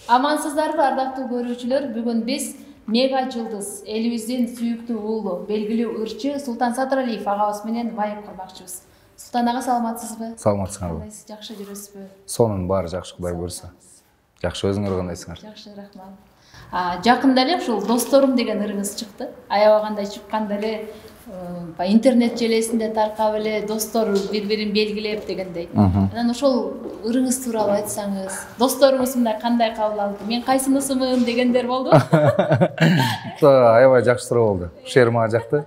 Амансыздарбы, ардактуу көрүүчүлөр. Бүгүн биз мега жылдыз, элибиздин сүйүктүү уулу, белгилүү ырчы Султан Садыралиев агабыз менен майып курмакчыбыз. Султан ага, саламатсызбы? Саламатсыңарбы? Кандайсыз, жакшы жүрөсүзбү? Сонун баары жакшы, Кудай буйруса. Жакшы, өзүңөр кандайсыңар? Жакшы, рахмат. Жакында эле ушул досторум деген ырыңыз чыкты. Аябагандай чыкканда эле интернет желесинде таркап эле достор бири-бирин белгилеп дегендей. Анан ошол ырыңыз тууралуу айтсаңыз, досторуңуз мындай кандай кабыл алды? Мен кайсынысымын дегендер болду? Аябай жакшы суроо болду. Ушул жери мага жакты.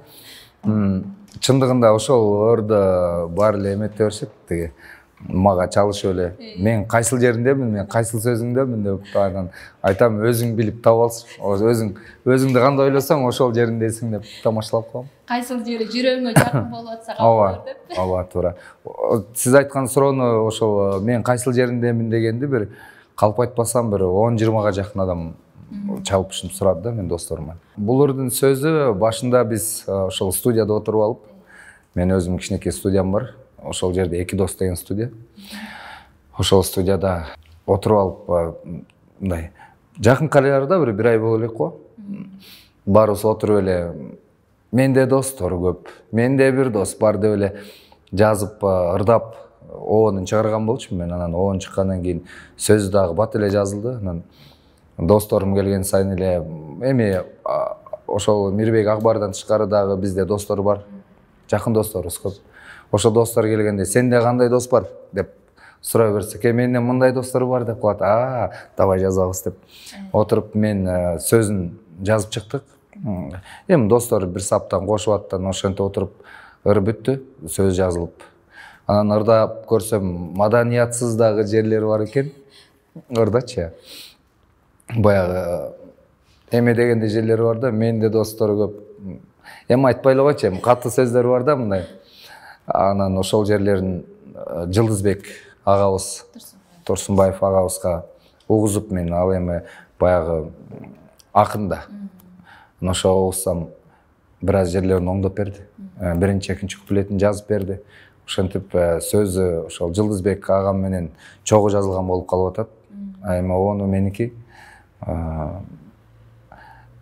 Чындыгында ошол ордо баары эле эмете беришет, тиги мага чалышып эле, мен кайсыл жериндемин, мен кайсыл сөзүңдөмүн деп анан айтам, өзүң билип таап алсың. Өзүңдү кандай ойлосоң, ошол жериндесиң деп тамашалап коем. Кайсыл жери жүрөгүңө жакын болуп атса кабыл бер деп. Ооба, туура. Сиз айткан суроону ошол мен кайсыл жериндемин дегенди бир калп айтпасам бир 10-20га жакын адам чалып ушинтип сурады да мен досторума. Бул ырдын сөзү башында биз ошол студияда отуруп алып, мен өзүм кичинекей студиям бар. Ошол жерде эки дос деген студия. Ошол студияда отуруп алып, мындай жакынкы араларда бир ай боло элек го. Баарыбыз отуруп эле, менде достор көп, менде бир дос бар деп эле жазып, ырдап, оонун чыгарган болчумун мен. Анан оон чыккандан кийин сөзү дагы бат эле жазылды. Анан досторум келген сайын эле, эми ошол Мирбек Акбардан тышкары дагы бизде достор бар, жакын досторубуз көп. Ошол достор келгенде, сенде кандай дос бар деп сурай берсек, менде мындай достор бар деп калат. Давай жазабыз деп отуруп мен сөзүн жазып чыктык. Эми достор бир саптан кошуп аттан ошентип отуруп ыр бүттү, сөз жазылып. Анан ырдап көрсөм, маданиятсыз дагы жерлери бар экен. Ырдачы. Баягы эме дегенде жерлери бар да, менде достор көп. Эми айтпай эле койчу, эми катуу сөздөр бар да мындай. Анан ошол жерлерин Жылдызбек агабыз, Турсунбаев агабызга угузуп мен ал эми баягы акында. Ошо угузсам бир аз жерлерин оңдоп берди. Биринчи, экинчи куплетин жазып берди. Ошентип сөзү ошол Жылдызбек агам менен чогуу жазылган болуп калып атат. Эми ону меники.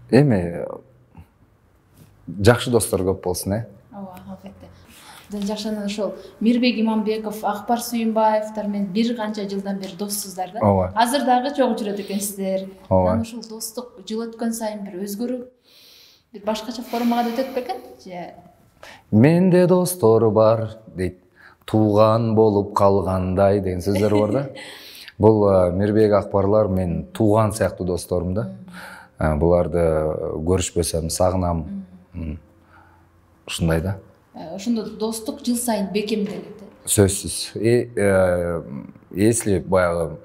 Эми жакшы достор көп болсун, Ооба, албетте. Жакшы, ошол Мирбек Иманбеков, Акбар Сүйүнбаевтар менен бир канча жылдан бери доссуздар да. Ооба. Азыр дагы чогуу жүрөт экенсиздер. Ооба. Ошол достук жыл өткөн сайын бир өзгөрүп, бир башкача формага өтөт бекен? Менде достор бар дейт, тууган болуп калгандай деген сөздөр бар да. Бул Мирбек Акбарлар мен тууган сыяктуу досторум да. Буларды көрүшпөсөм сагынам. Ушундай да. Ошондо достук жыл сайын бекемделет. Сөзсүз. Если баягы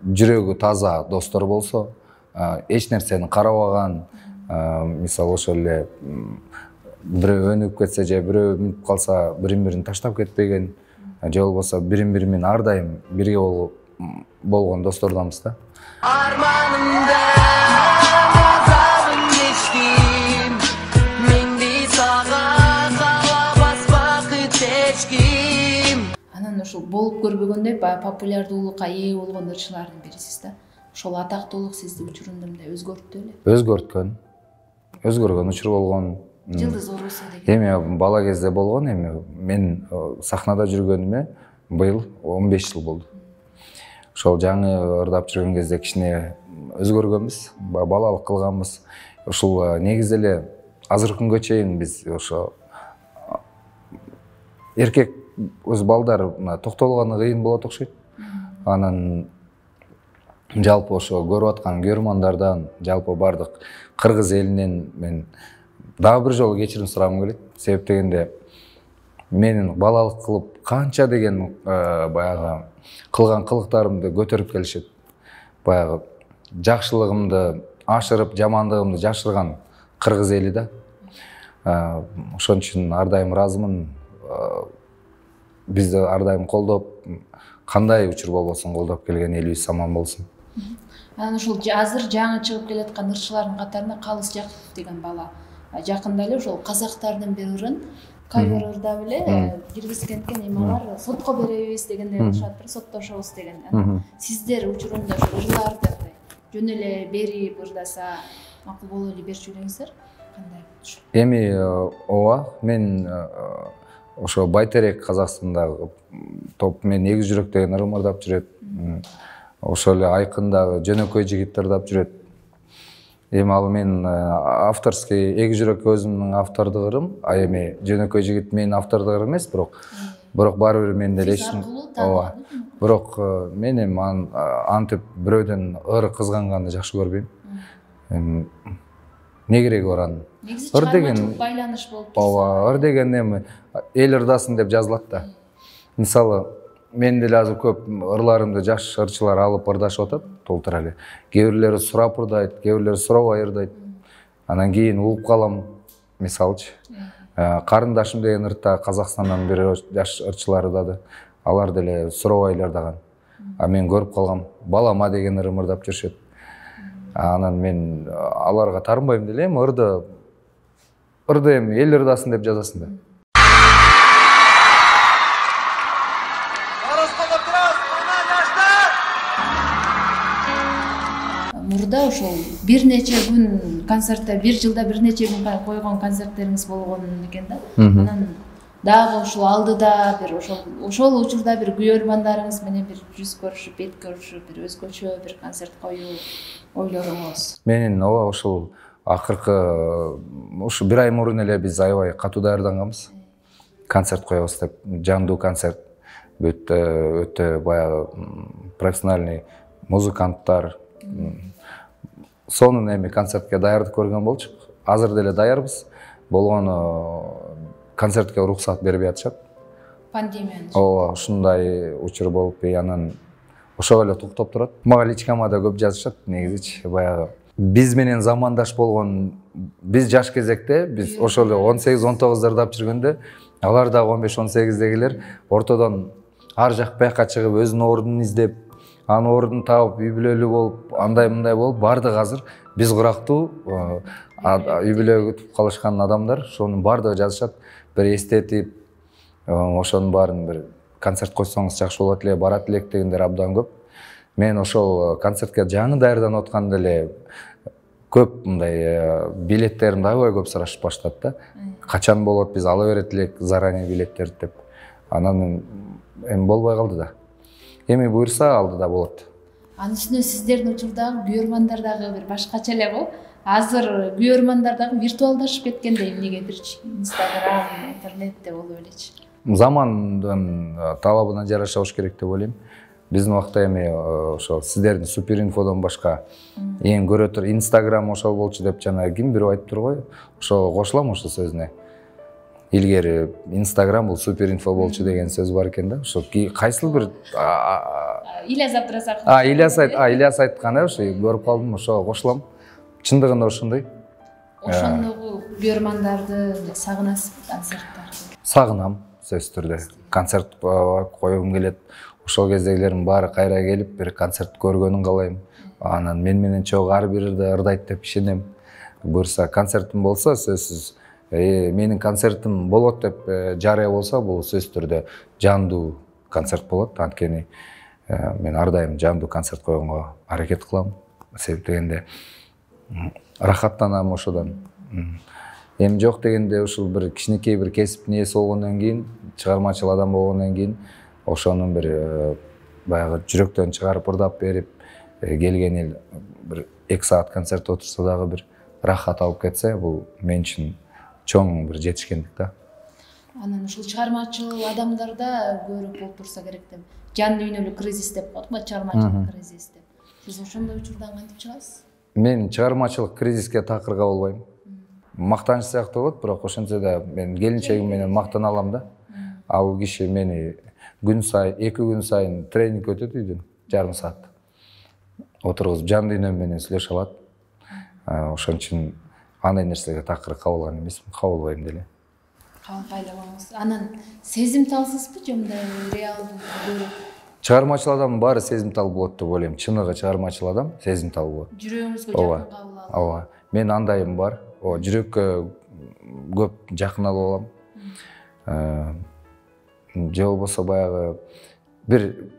жүрөгү таза достор болсо, эч нерсени карабаган, мисалы ошол эле бирөө өнүгүп кетсе же бирөө мүнүп калса бирин-бирин таштап кетпеген, же болбосо бирин-бири менен ар дайым бирге болгон достордонбуз да. Арманымда азабын кечтим, менди сага каалабас бакыт эч ким. Анан ошол болуп көрбөгөндөй баягы популярдуулукка ээ болгон ырчылардын бирисиз да. Ошол атактуулук сизди учурунда мындай өзгөрттү беле? Өзгөргөн учур болгон. Жылдыз оорусу деген. Эми бала кезде болгон, эми мен сахнада жүргөнүмө быйыл 15 жыл болду. Ошол жаңы ырдап жүргөн кезде кичине өзгөргөнбүз, балалык кылганбыз. Ушул негизи эле азыркы күнгө чейин биз ошо эркек өз балдар токтолгону кыйын болот окшойт. Анан жалпы ошо көрүп аткан көрөрмандардан, жалпы бардык кыргыз элинен мен дагы бир жолу кечирим сурагым келет. Себеп дегенде менин балалык кылып канча деген баягы кылган кылыктарымды көтөрүп келишет. Баягы жакшылыгымды ашырып, жамандыгымды жашырган кыргыз эли да. Ошон үчүн ар дайым ыраазымын. Бизди ар дайым колдоп, кандай учур болбосун колдоп келген элибиз аман болсун. Анан ушул азыр жаңы чыгып келаткан ырчылардын катарында Калыс Жакупов деген бала жакында эле ошол казактардын бир ырын кавер ырдап эле киргизген экен. Эми алар сотко беребиз дегендей кылышат, соттошобуз деген. Сиздер учурунда ошол ырларды жөн эле берип ырдаса макул боло эле берчү элеңиздер? Кандай? Эми ооба, мен ошо Байтерек Казакстандагы топ мен Эгиз жүрөк деген ырым ырдап жүрөт. Ошол эле Айкындагы Жөнөкөй жигит ырдап жүрөт. Эми ал мен авторский Эгиз жүрөк өзүмдүн автордук ырым, а эми Жөнөкөй жигит менин автордук ырым эмес, бирок баары бир менде элешим. Ооба. Бирок мен эми антип бирөөдөн ыр кызганганды жакшы көрбөйм. Не кереги бар анын? Ыр деген байланыш болуп турса. Ооба, ыр деген эми эл ырдасын деп жазылат да. Мисалы, мен деле азыр көп ырларымды жаш ырчылар алып ырдашып атат, толтура эле. Кээ бирлери сурап ырдайт, кээ бирлери сурабай ырдайт. Анан кийин угуп калам, мисалчы. Карындашым деген ыртта Казакстандан бир жаш ырчылар ырдады. Алар деле сурабай ырдаган. А мен көрүп калгам, балама деген ырым ырдап жүрүшөт. Анан мен аларга тарынбайм деле, эми ырды эми эл ырдасын деп жазасың да. Мурда ошол бир нече күн концертте, бир жылда бир нече күн койгон концерттериңиз болгон экен да. Анан дагы ушул алдыда бир ошол учурда бир күйөрмандарыңыз менен бир жүз көрүшүп, бет көрүшүп, бир өзгөчө бир концерт коюу ойлоруңуз? Менин ооба ушул акыркы ушу бир ай мурун эле биз аябай катуу даярданганбыз. Концерт коебуз деп, жандуу концерт. Өтө баягы профессиональный музыканттар. Сонун эми концертке даярдык көргөн болчук. Азыр деле даярбыз. Болгону концертке уруксат бербей атышат. Пандемия. Ооба, ушундай учур болуп, анан ошого эле токтоп турат. Мага личкама да көп жазышат негизичи. Баягы биз менен замандаш болгон, биз жаш кезекте, биз ошол эле 18-19 ырдап жүргөндө, алар дагы 15-18дегилер ортодон ар жак бияка чыгып, өзүнүн ордун издеп, анын ордун таап, үй бүлөлүү болуп, андай-мындай болуп, бардыгы азыр биз курактуу үй бүлө күтүп калышкан адамдар, ошонун бардыгы жазышат. Бир эстетип, ошонун баарын бир концерт койсоңуз жакшы болот эле, барат элек дегендер абдан көп. Мен ошол концертке жаңы даярданып атканда эле көп мындай билеттеримди аябай көп сурашып баштады да. Качан болот, биз ала берет элек заранее билеттерди деп. Анан эми болбой калды да. Эми буюрса алдыда болот. Анын үстүнө сиздердин учурдагы күйөрмандар дагы бир башкача эле го. Азыр күйөрмандар дагы виртуалдашып кеткендей, эмнегедирчи? Инстаграм, интернетте болуп элечи. Замандын талабына жараша болуш керек деп ойлойм. Биздин убакта эми ошол сиздердин Супер Инфодон башка эң көрө тур Инстаграм ошол болчу деп жана ким бирөө айтыптыр го. Ошого кошулам ошол сөзүнө. Илгери Инстаграм бул Супер Инфо болчу деген сөз бар экен да. Ошо кайсыл бир Ильяс Абдразаков. Ильяс айткан, ошо көрүп калдым, ошого кошулам. Чындыгында ошондой. Ошондогу күйөрмандарды сагынасызбы, концерттарды? Сагынам, сөзсүз түрдө. Концерт коюм келет. Ошол кездегилердин баары кайра келип, бир концерт көргөнүн каалайм. Анан мен менен чогуу ар бирде ырдайт деп ишенем. Буюрса концертим болсо, сөзсүз менин концертим болот деп жарыя болсо, бул сөзсүз түрдө жандуу концерт болот. Анткени мен ар дайым жандуу концерт койгонго аракет кылам. Себеп дегенде рахаттанам ошодон. Эми жок дегенде ушул бир кичинекей бир кесиптин ээси болгондон кийин, чыгармачыл адам болгондон кийин ошонун бир баягы жүрөктөн чыгарып ырдап берип келген эл бир 2 саат концерт отурса дагы бир рахат алып кетсе, бул мен үчүн чоң бир жетишкендик да. Анан ушул чыгармачыл адамдарда көрүп болуп турса керек деп, жан дүйнөлүк кризис деп коет го, чыгармачылык кризис деп. Сиз ошондой учурдан кантип чыгасыз? Мен чыгармачылык кризиске такыр кабыл албайм. Мактаныч сыяктуу болот, бирок ошентсе да мен келинчегим менен мактана алам да. Ал киши мени күн сайын, 2 күн сайын тренинг өтөт үйдөн, жарым саат. Отургузуп жан дүйнөм менен сүйлөшө алат. Ошон үчүн андай нерселерге такыр кабылган эмесмин, кабылбайм деле. Кабылбай эле коюңуз. Анан сезимталсызбы же мындай реалдуу көрүп? Чыгармачыл адамдын баары сезимтал болот деп ойлойм. Чыныгы чыгармачыл адам сезимтал болот. Жүрөгүңүзгө жакын кабыл алып. Ооба. Мен андайым бар. Жүрөккө көп жакын алып алам. Же болбосо баягы бир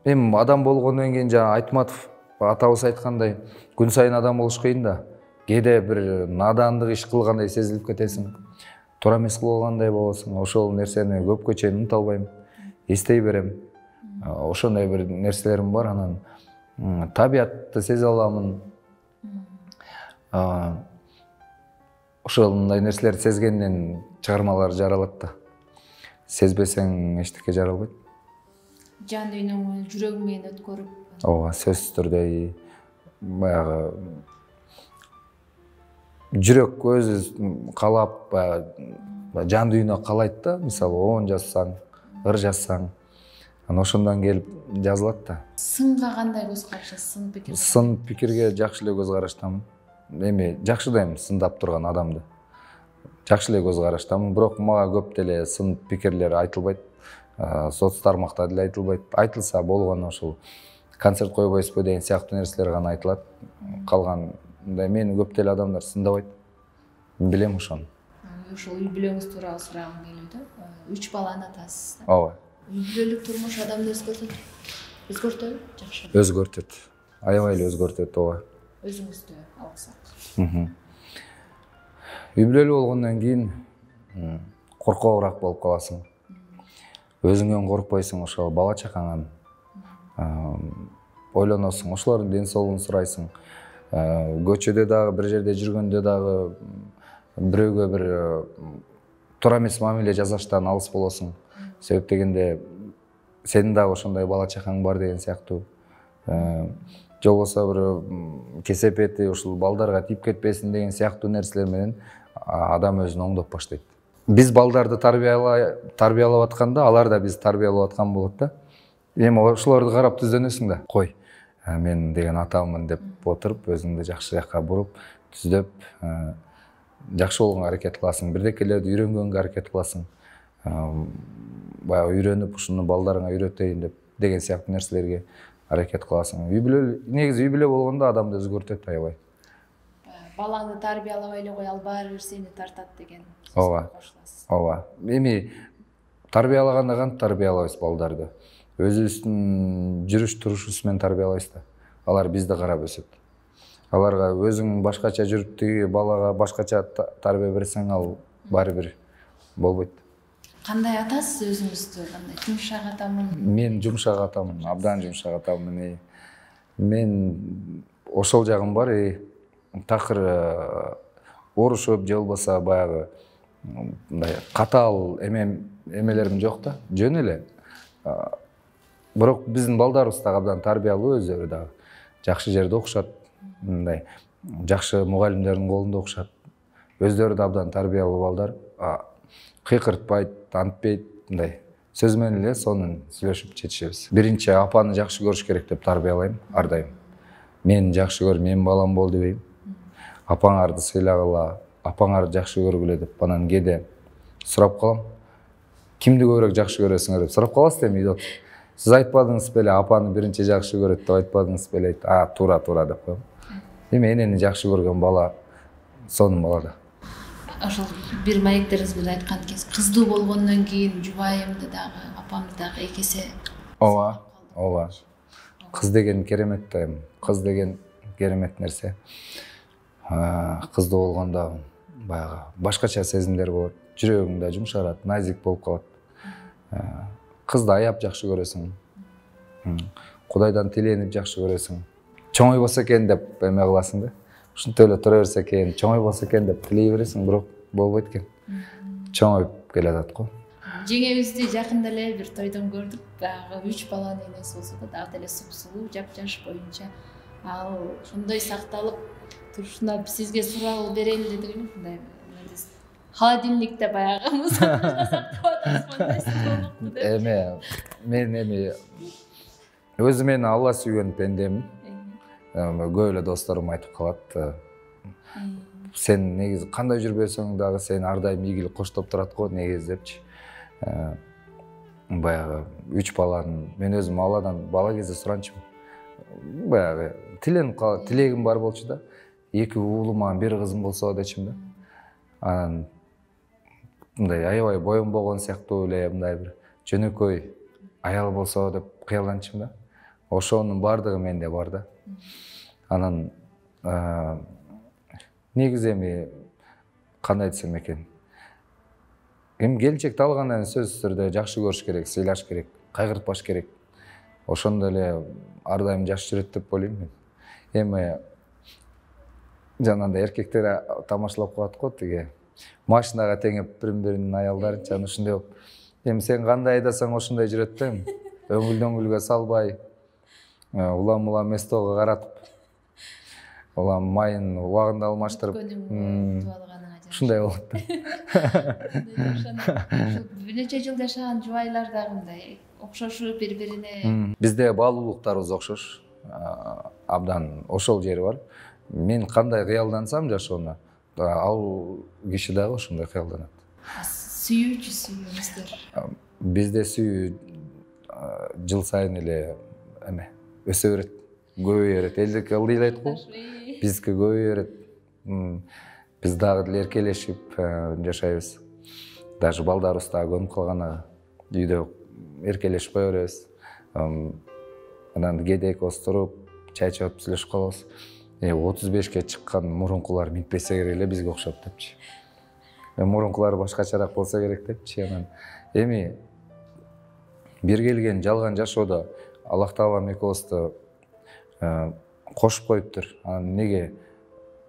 эми адам болгондон кийин жана Айтматов атабыз айткандай, күн сайын адам болуш кыйын да. Кээде бир надандык иш кылгандай сезилип кетесиң. Туура эмес кылгандай болосуң. Ошол нерсени көпкө чейин унута албайм. Эстей берем. Ошондой бир нерселерим бар. Анан табиатты сезе аламын. Ошондой нерселерди сезгенден чыгармалар жаралат да. Сезбесең эчтеке жаралбайт. Жан дүйнөңү жүрөгүң менен өткөрүп. Ооба, сөзсүз түрдө баягы жүрөк өзү каалап, жан дүйнө каалайт да. Мисалы 10 жазсаң, ыр жазсаң, анан ошондон келип жазылат да. Сынга кандай көз карашысыз? Сын пикир. Сын пикирге жакшы эле көз караштамын. Эми жакшыдайм сындап турган адамды. Жакшы эле көз караштамын, бирок мага көп деле сын пикирлер айтылбайт. Соц тармакта деле айтылбайт. Айтылса болгону ошол концерт койбойсузбу деген сыяктуу нерселер гана айтылат. Калганда мени көп деле адамдар сындабайт. Мен билем ошону. Ошол үй бүлөңүз тууралуу сурагым келүүдө. 3 баланын атасыз да. Ооба. Үй бүлөлүк турмуш адамды өзгөртөбү? Жакшы. Өзгөртөт. Аябай эле өзгөртөт, ооба. Өзүңүздү алсак. Үй бүлөлүү болгондон кийин коркоогураак болуп каласың. Өзүңөн коркпойсуң, ошол бала чакаңан ойлоносуң, ошолордун ден соолугун сурайсың. Көчөдө дагы, бир жерде жүргөндө дагы бирөөгө бир туура эмес мамиле жасаштан алыс болосуң. Себеп дегенде сенин дагы ошондой бала чакаң бар деген сыяктуу. Же болбосо бир кесепети ушул балдарга тийип кетпесин деген сыяктуу нерселер менен адам өзүн оңдоп баштайт. Биз балдарды тарбиялап атканда, алар да биз тарбиялап аткан болот да. Эми ошолорду карап түздөнөсүң да. Кой, мен деген атамын деп отуруп, өзүңдү жакшы жакка буруп, түздөп, жакшы болгонго аракет кыласың. Бирдекелерди үйрөнгөнгө аракет кыласың. Баягы үйрөнүп, ушуну балдарыңа үйрөтөйүн деген сыяктуу нерселерге аракет кыласың. Үй бүлө, негизи үй бүлө болгондо адамды өзгөртөт аябай. Балаңды тарбиялабай эле кой, ал баары бир сени тартат деген. Ооба. Ооба. Эми тарбиялаганда кантип тарбиялайбыз балдарды? Өзүбүздүн жүрүш турушубуз менен тарбиялайбыз да. Алар бизди карап өсөт. Аларга өзүң башкача жүрүп, тиги балага башкача тарбия берсең, ал баары бир болбойт. Кандай атасыз өзүңүздү? Кандай жумшак атамын? Мен жумшак атамын, абдан жумшак атамын. Мен ошол жагым бар, такыр орушуп, же болбосо баягы мындай катаал эмелерим жок да, жөн эле. Бирок биздин балдарыбыз да абдан тарбиялуу, өздөрү дагы жакшы жерде окушат, мындай жакшы мугалимдердин колунда окушат. Өздөрү да абдан тарбиялуу балдар. Кыйкыртпайт, антпейт, мындай сөз менен эле сонун сүйлөшүп чечишебиз. Биринчи апаны жакшы көрүш керек деп тарбиялайм ар дайым. Мени жакшы көр, менин балам бол дебейм. Апаңарды сыйлагыла, апаңарды жакшы көргүлө деп анан кээде сурап калам. Кимди көбүрөөк жакшы көрөсүңөр деп сурап каласыз эми үйдө. Сиз айтпадыңыз беле, апаны биринчи жакшы көрөт деп айтпадыңыз беле? Туура деп коем. Эми энени жакшы көргөн бала сонун бала да. Ошол бир маектериңизде айткан экенсиз, кыздуу болгондон кийин жубайымды дагы, апамды дагы эки эсе. Ооба. Кыз деген керемет да эми. Кыз деген керемет нерсе. Кыздуу болгондо баягы башкача сезимдер болот. Жүрөгүң да жумшарат, назик болуп калат. Кызды аяп жакшы көрөсүң. Кудайдан тиленип жакшы көрөсүң. Чоңой болсо экен деп эме кыласың да. Ушинтип эле тура берсе экен, чоңой болсо экен деп тилей бересиң, бирок болбойт экен. Чоңоюп келатат го. Жеңебизди жакында эле бир тойдон көрдүк. Баягы 3 баланын энеси болсо да, дагы деле суп-сулуу, жап-жаш боюнча. ал ошондой сакталып турушуна сизге суроо берели дедик эле. Мындай холодильникте баягы мусордукта сактап атасызбы деп. Мен өзүм Алла сүйгөн пендемин. Көп эле досторум айтып калат. Сен негизи кандай жүрбөсөң дагы сен ар дайым ийгилик коштоп турат го негизи депчи. Баягы 3 баланын мен өзүм Алладан бала кезде суранчумун. Баягы тилегим бар болчу да. 2 уулум, 1 кызым болсо дечим да. Анан мындай аябай боюнбогон сыяктуу эле мындай бир жөнөкөй аял болсо деп кыялданчым да. Ошонун бардыгы менде бар да. Анан негизи кандай десем экен. Келечекти алгандан сөзсүз түрдө жакшы көрүш керек, сыйлаш керек, кайгыртпаш керек. Ошондо эле ар дайым жакшы жүрөт деп ойлойм мен. Жанагындай эркектер тамашалап коет го тиги машинага теңеп бири-биринин аялдарын жана ушундай болуп. Сен кандай айдасаң ошондой жүрөт да. Өңүлдөнгүлгө салбай, улам эстого каратып, улам майын убагында алмаштырып, ушундай болот да. Бир нече жыл жашаган жубайлар дагы мындай окшошуп бири-бирине. Бизде баалуулуктарыбыз окшош. Абдан ошол жери бар. Мен кандай кыялдансам жашоону, ал киши дагы ошондой кыялданат. Сүйүүчүсүңүздөр? Бизде сүйүү жыл сайын эле өсө берет, көбөйө берет. Элдики ылдый эле айт го. Биздики көбөйө берет. Биз дагы деле эркелешип жашайбыз. Даже балдарыбыз дагы көнүп калган үйдө эркелешип кое беребиз. Анан кээде экөөбүз туруп, чай чыгып сүйлөшүп калабыз. 35ке чыккан мурункулар минтпесе керек эле бизге окшоп депчи. Мурункулар башкачараак болсо керек депчи. Анан бир келген жалган жашоодо Аллах Таалам экөөбүздү кошуп коюптур. Анан неге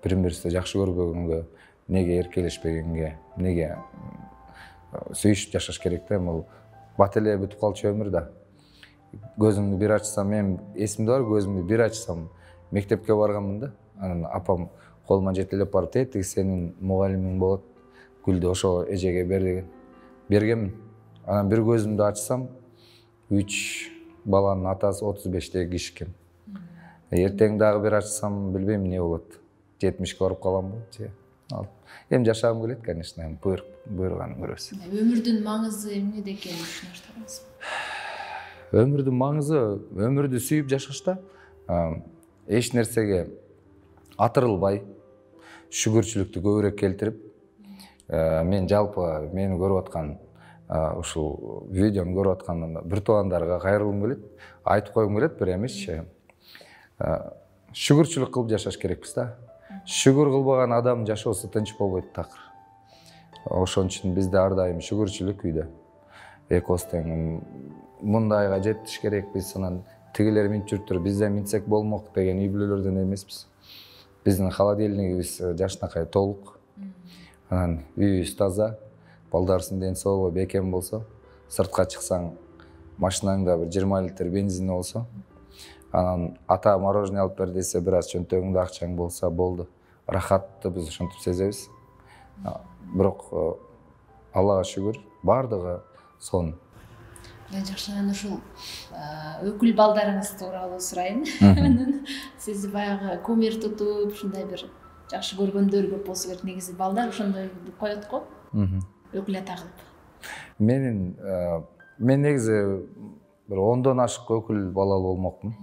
бири-бирибизди жакшы көрбөгөнгө, неге эркелешпегенге, неге сүйүшүп жашаш керек да? Бул бат эле бүтүп калчу өмүр да. Көзүмдү бир ачсам, мен эсимде бар, көзүмдү бир ачсам мектепке барганмын да. Анан апам колума жетелеп барып, "Тиги сенин мугалимиң болот. Гүлдү ошо эжеге бер" деген. Бергенмин. Анан бир көзүмдү ачсам, 3 баланын атасы 35-теги киши экен. Эртең дагы бир ачсам, билбейм эмне болот. 70ке барып каламбы же. Эми жашагым келет, конечно, буйруганын көрөбүз. Өмүрдүн маңызы эмнеде экенин түшүнүштүрүңүз? Өмүрдүн маңызы өмүрдү сүйүп жашашта, эч нерсеге атырылбай, шүгүрчүлүктү көбүрөөк келтирип, мен жалпы мени көрүп аткан ушул видеону көрүп аткан бир туугандарга кайрылгым келет, айтып койгум келет, бир эмесчи. Шүгүрчүлүк кылып жашаш керекпиз да. Шүгүр кылбаган адам жашоосу тынч болбойт такыр. Ошон үчүн бизде ар дайым шүгүрчүлүк үйдө. Экөөбүз тең мындайга жетиш керекпиз, анан тигилер минтип жүрүптүр, биз да минтсек болмок деген үй бүлөлөрдөн эмеспиз. Биздин холодильнигибиз жашынакай толук. Анан үйүбүз таза, балдарыбыздын ден соолугу бекем болсо, сыртка чыксаң машинаңда бир 20 литр бензин болсо, анан ата мороженое алып бер десе, бир аз чөнтөгүңдө акчаң болсо болду. Рахатты биз ошентип сезебиз. Бирок Аллага шүгүр, бардыгы сонун. Жакшы, анан ушул өкүл балдарыңыз тууралуу сурайын. Сиз баягы кумир тутуп, ушундай бир жакшы көргөндөр көп болсо керек. Негизи балдар ошондой коет го. Өкүл ата кылып. Мен негизи бир 10дон ашык өкүл балалуу болмокмун.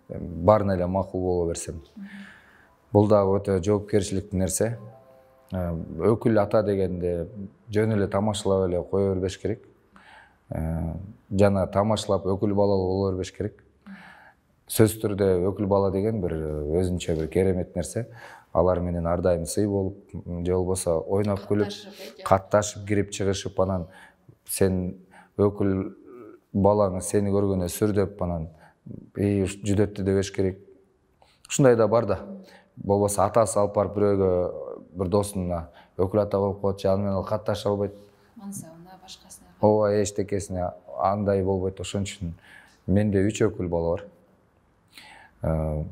Баарына эле макул боло берсем. Бул дагы өтө жоопкерчиликтүү нерсе. Өкүл ата дегенде жөн эле тамашалап эле кое бербеш керек. Жана тамашалап өкүл балалуу боло бербеш керек. Сөзсүз түрдө өкүл бала деген бир өзүнчө бир керемет нерсе. Алар менен ар дайым сый болуп, же болбосо ойноп күлүп, катташып, кирип чыгышып, анан сен өкүл балаңы сени көргөндө сүрдөп, анан жүдөттү дебеш керек. Ушундай да бар да. Болбосо атасы алып барып бирөөгө, бир досуна өкүл ата болуп коет, аны менен ал катташа албайт. Мансабына, башкасына. Ооба, эчтекесине андай болбойт. Ошон үчүн менде 3 өкүл бала бар.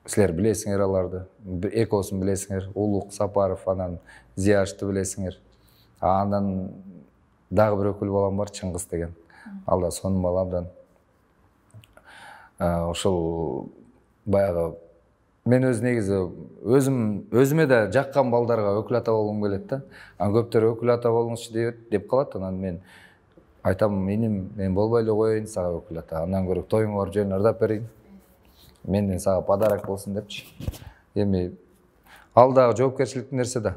силер билесиңер аларды, экоосун билесиңер, Улук Сапаров, анан Зияшты билесиңер. Андан дагы бир өкүл балам бар, Чыңгыз деген. Ал да сонун бала абдан. Ошол баягы мен негизи өзүмө да жаккан балдарга өкүл ата болгум келет да. Көптөр өкүл ата болуңузчу деп калат, анан мен айтам, иним, мен болбой эле коеюн сага өкүл ата. Андан көрө тоюңа барып жөн ырдап берейин. Менден сага подарок болсун депчи. Эми ал дагы жоопкерчиликтүү нерсе да.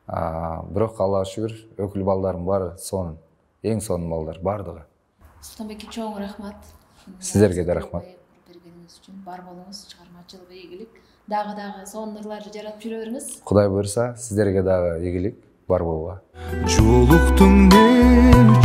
Бирок Аллага шүгүр, өкүл балдарым баары сонун. Эң сонун балдар бардыгы. Султанбекке чоң рахмат. Сиздерге да рахмат. Бергениңиз үчүн бар болуңуз, чыгармачылык ийгилик. Дагы сонун ырларды жаратып жүрө бериңиз. Кудай буйрса, сиздерге дагы ийгилик бар болууга. Жолуктум мен